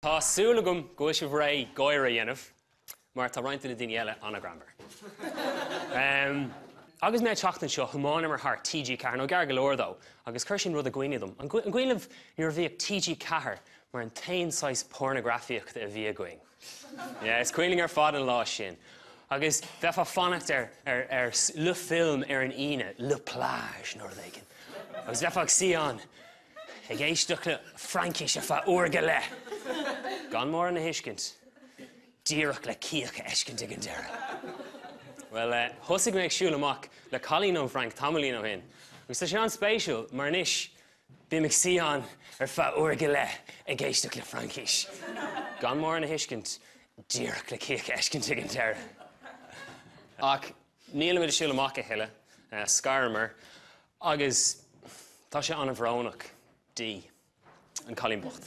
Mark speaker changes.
Speaker 1: Tá súil agam go bhfuil sibh réidh gáire a dhéanamh, mar tá roinnt de na daoine eile an-ghreannmhar. Agus mé ag teacht anseo, thiomáineamar thar TG4, nó gar go leor dó, agus chuir sin rud i gcuimhne dom. An cuimhin libh nuair a bhíodh TG4 mar an t-aon saghas pornagrafaíochta a bhí againn? Yeah, is cuimhin linn ar fad an lá sin. Agus bheifeá ag fanacht ar, ar, ar Le Film ar an Aoine, Le Plage nó rud éigin. Agus bheifeá ag suí ann Ag éisteacht le Fraincis ar feadh uair go leith. Gan mórán a thuiscint. Díreach le cíoch a fheiscint ag an deireadh. Bhuel, thosaigh mé ag siúl amach le cailín ón bhFrainc tamaillín ó shin. Agus tá sé an-spéisiúil, mar anois bím ag suí ann ar feadh uair go leith ag éisteacht le Fraincis. Gan mórán a thuiscint. Díreach le cíoch a fheiscint ag an deireadh. Ach nílimid ag siúl amach a thuilleadh. Scaramar. Agus tá sé an-bhrónach di, an cailín bocht.